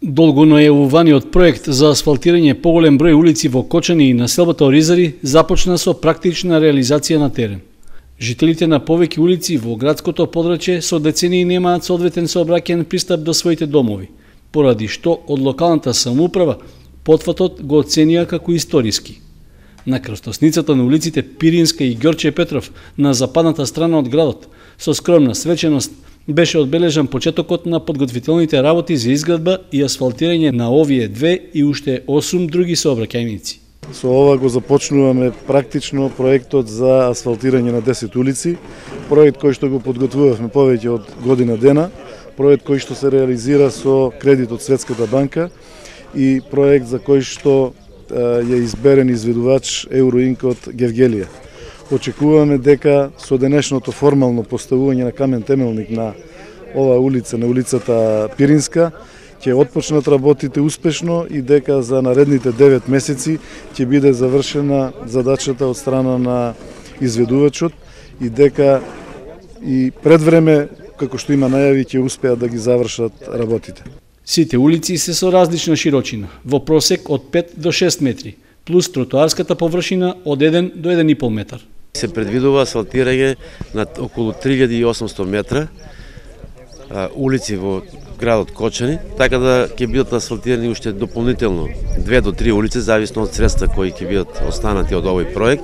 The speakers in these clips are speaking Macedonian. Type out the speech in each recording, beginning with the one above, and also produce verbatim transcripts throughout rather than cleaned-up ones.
Долго најавуваниот проект за асфалтирање поголем број улици во Кочани и населбата Оризари започна со практична реализација на терен. Жителите на повеќе улици во градското подрачје со децении немаат соодветен сообраќајен пристап до своите домови, поради што од локалната самоуправа потфатот го оценија како историски. На крстосницата на улиците Пиринска и Ѓорче Петров на западната страна од градот, со скромна свеченост, беше одбележан почетокот на подготвителните работи за изградба и асфалтирање на овие две и уште осум други сообраќајници. Со ова го започнуваме практично проектот за асфалтирање на десет улици, проект кој што го подготвувавме повеќе од година дена, проект кој што се реализира со кредит од Светската банка и проект за кој што е изберен изведувач Евроинк од Гевгелија. Очекуваме дека со денешното формално поставување на камен темелник на оваа улица, на улицата Пиринска, ќе отпочнат работите успешно и дека за наредните девет месеци ќе биде завршена задачата од страна на изведувачот и дека и пред време, како што има најави, ќе успеат да ги завршат работите. Сите улици се со различна широчина, во просек од пет до шест метри, плюс тротоарската површина од еден до еден и пол метар. Се предвидува асфалтирање на околу три илјади и осумстотини метра а, улици во градот Кочани, така да ќе бидат асфалтирани уште дополнително две до три улици, зависно од средства кои ќе бидат останати од овој проект.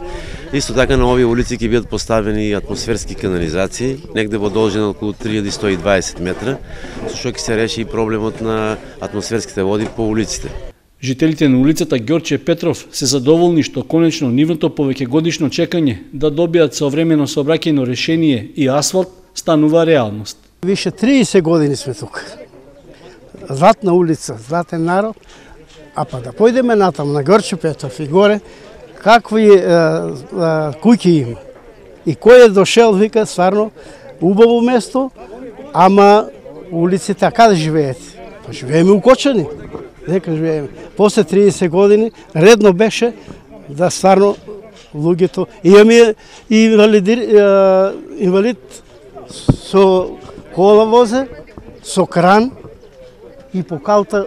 Исто така на овие улици ќе бидат поставени атмосферски канализации, негде во должина околу три илјади сто и дваесет метра, со што ќе се реши и проблемот на атмосферските води по улиците. Жителите на улицата Ѓорче Петров се задоволни што конечно нивното повеќегодишно чекање да добијат современо сообраќајно решение и асфалт станува реалност. Више триесет години сме тука. Златна улица, златен народ, а па да појдеме натам на Ѓорче Петров и горе, какви е, е, куќи има. И кој е дошел, вика, стварно, убаво место, ама улици така да живеете. Па живееме у Кочани. Дека живееме. После триесет години редно беше да стварно луѓето имаме и инвалид, инвалид со кола возе, со кран и по калта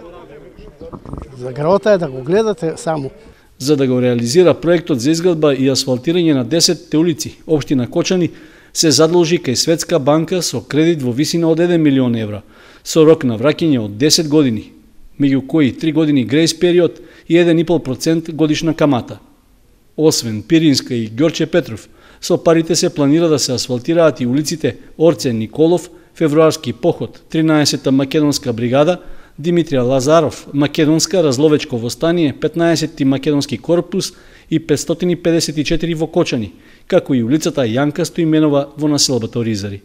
за граота е да го гледате само. За да го реализира проектот за изградба и асфалтирање на десетте улици, општина Кочани се задолжи кај Светска банка со кредит во висина од еден милион евра, со рок на враќање од десет години, меѓу кои три години грејс период и еден и пол процент годишна камата. Освен Пиринска и Ѓорче Петров, со парите се планира да се асфалтираат и улиците Орце Николов, Февруарски поход, тринаесетта македонска бригада, Димитрија Лазаров, македонска разловечко востание, петнаесетти македонски корпус и петстотини педесет и четири во Кочани, како и улицата Јанка Стоименова во населбата Оризари.